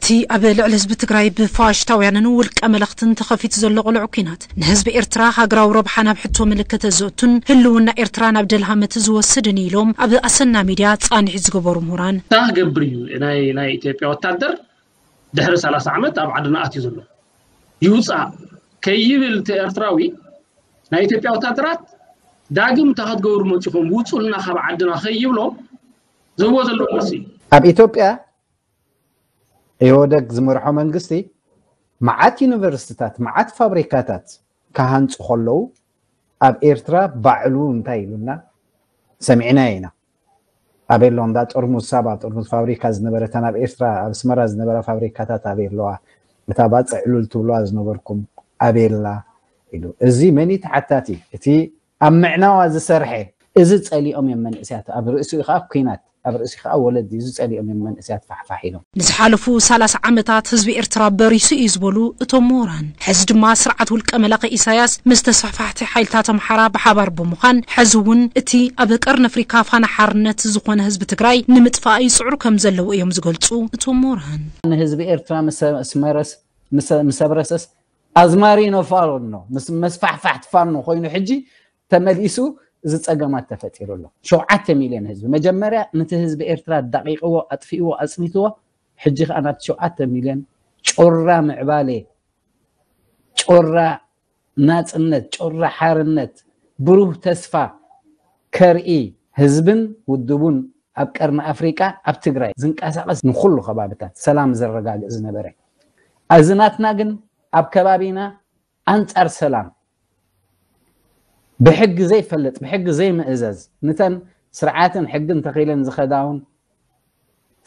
እቲ ኣብ ልዕሊ ህዝቢ ትግራይ ብፋሽስታውያንን ውልቀ መለኽትን ተኸፊቱ ዘሎ ቅሉዕ ኲናት ንህዝቢ ኤርትራ ሃገራዊ ረብሓ ናብ ሕቶ ምልክት ዘእቱን ህልውና ኤርትራ ናብ ደልሃመት ዝወስድን ኢሎም ኣብ ኣሰና ሚድያ ፃንሒት ዝገበሩ ምሁራን። እንታይ ክገብር እዩ ናይ ናይ ኢትዮጵያ ወታደር ድሕሪ ሰላሳ ዓመት ኣብ ዓድና ኣትዩ ዘሎ? ይውፃእ ከይብል እቲ ኤርትራዊ ናይ ኢትዮጵያ ወታደራት ዳግም እንታይ ክትገብሩ መፂኹም ውፁልና ካብ ዓድና ከይብሎ ዝህቦ ዘሎ መልሲ እዩ። ኣብ ኢትዮጵያ ኢህወደግ ዝመርሖ መንግስቲ መዓት ዩኒቨርሲቲታት መዓት ፋብሪካታት ክሃንፁ ከለዉ ኣብ ኤርትራ ባዕሉ እንታይ ኢሉና ሰሚዕናዮ ኢና። ኣበይ ኣሎ እንዳ ጥርሙዝ ሳባ ጥርሙዝ ፋብሪካ ዝነበረተን ኣብ ኤርትራ ኣብ ኣስመራ ዝነበራ ፋብሪካታት ኣበይ ኣለዋ? እታ ባፅዕ ዕሉል ትብልዋ ዝነበርኩም ኣበይ ኣላ? ኢሉ። እዚ መን እዩ ተሓታቲ? እቲ ኣብ ምዕናዋ ዝሰርሐ። እዚ ፀሊኦም እዮም መንእስያት ኣብ ርእሲኡ ከዓ ኲናት ኣብ ርእሲ ከዓ ወለዲ እዚ ፀሊኦም እዮም መንእስያት ፋሕፋሕ ኢሎም። ንዝሓለፉ ሰላሳ ዓመታት ህዝቢ ኤርትራ በሪሱ እዩ ዝበሉ እቶም ምሁራን፣ ሕዚ ድማ ስርዓት ውልቀ መላኺ ኢሳያስ ምስ ተስፋሕፋሕቲ ሓይልታት ኣምሓራ ብሓባር ብምዃን ሕዚ እውን እቲ ኣብ ቀርኒ ኣፍሪካ ፋና ሓርነት ዝኾነ ህዝቢ ትግራይ ንምጥፋእ ይፅዕሩ ከም ዘለዉ እዮም ዝገልፁ እቶም ምሁራን። ንህዝቢ ኤርትራ ምስ መረስ ምስ ኣብረሰስ ኣዝማሪኖ ፋኖ ምስ መስፋሕፋሕቲ ፋኖ ኮይኑ ሕጂ ተመሊሱ እዚ ፀገማት ተፈጢሩ ኣሎ። ሸውዓተ ሚልዮን ህዝቢ መጀመርያ ነቲ ህዝቢ ኤርትራ ኣዳቂቅዎ ኣጥፊእዎ ኣፅኒትዎ ሕጂ ከዓ ናብቲ ሸውዓተ ሚልዮን ጮራ ምዕባሌ ጮራ ናፅነት ጮራ ሓርነት ብሩህ ተስፋ ከርኢ ህዝብን ውድቡን ኣብ ቀርኒ ኣፍሪቃ ኣብ ትግራይ ዝንቀሳቀስ ንኩሉ ከባብታት ሰላም ዘረጋግእ ዝነበረ እዚ ናትና ግን ኣብ ከባቢና ኣንፃር ሰላም ብሕጊ ዘይፈልጥ ብሕጊ ዘይምእዘዝ ንተን ስርዓትን ሕግን ተኺለን ዝኸዳውን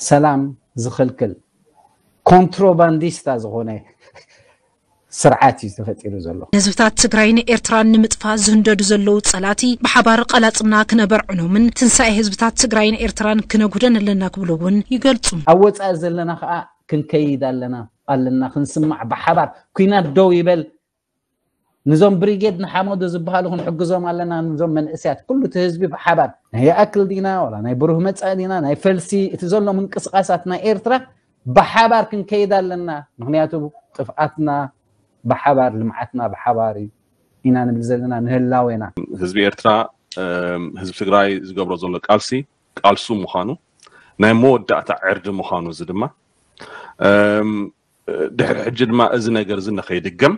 ሰላም ዝኽልክል ኮንትሮባንዲስታ ዝኾነ ስርዓት እዩ ተፈጢሩ ዘሎ። ንህዝብታት ትግራይን ኤርትራን ንምጥፋእ ዝህንደዱ ዘለዉ ፀላእቲ ብሓባር ቐላፅምና ክነበርዕኖምን ትንሳኤ ህዝብታት ትግራይን ኤርትራን ክነጉህደን ኣለና ክብሉ እውን ይገልፁ። ኣብ ወፃኢ ዘለና ከዓ ክንከይድ ኣለና ኣለና ክንስማዕ ብሓባር ኲናት ደው ይበል ንዞም ብሪጌድ ንሓመዱ ዝበሃሉ ክንሕግዞም ኣለና ንዞም መንእስያት ኩሉ እቲ ህዝቢ ብሓባር ናይ ይኣክል ዲና ዋላ ናይ ብሩህ መፃኢ ዲና ናይ ፈልሲ እቲ ዘሎ ምንቅስቃሳት ናይ ኤርትራ ብሓባር ክንከይድ ኣለና ምክንያቱ ጥፍኣትና ብሓባር ልምዓትና ብሓባር እዩ ኢና ንብል ዘለና ንህላዌና። ህዝቢ ኤርትራ ህዝቢ ትግራይ ዝገብሮ ዘሎ ቃልሲ ቃልሱ ምዃኑ ናይ መወዳእታ ዕርዲ ምዃኑ እዚ ድማ ድሕሪ ሕጂ ድማ እዚ ነገር እዚ ንኸይድገም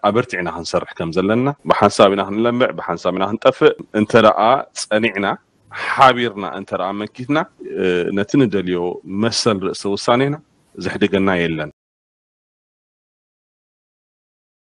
ኣበርቲዕና ክንሰርሕ ከም ዘለና ብሓንሳብ ኢና ክንለምዕ ብሓንሳብ ኢና ክንጠፍእ እንተ ደኣ ጸኒዕና ሓቢርና እንተ ደኣ መኪትና ነቲ ንደልዮ መሰል ርእሰ ውሳኔና ዘሕድገና የለን።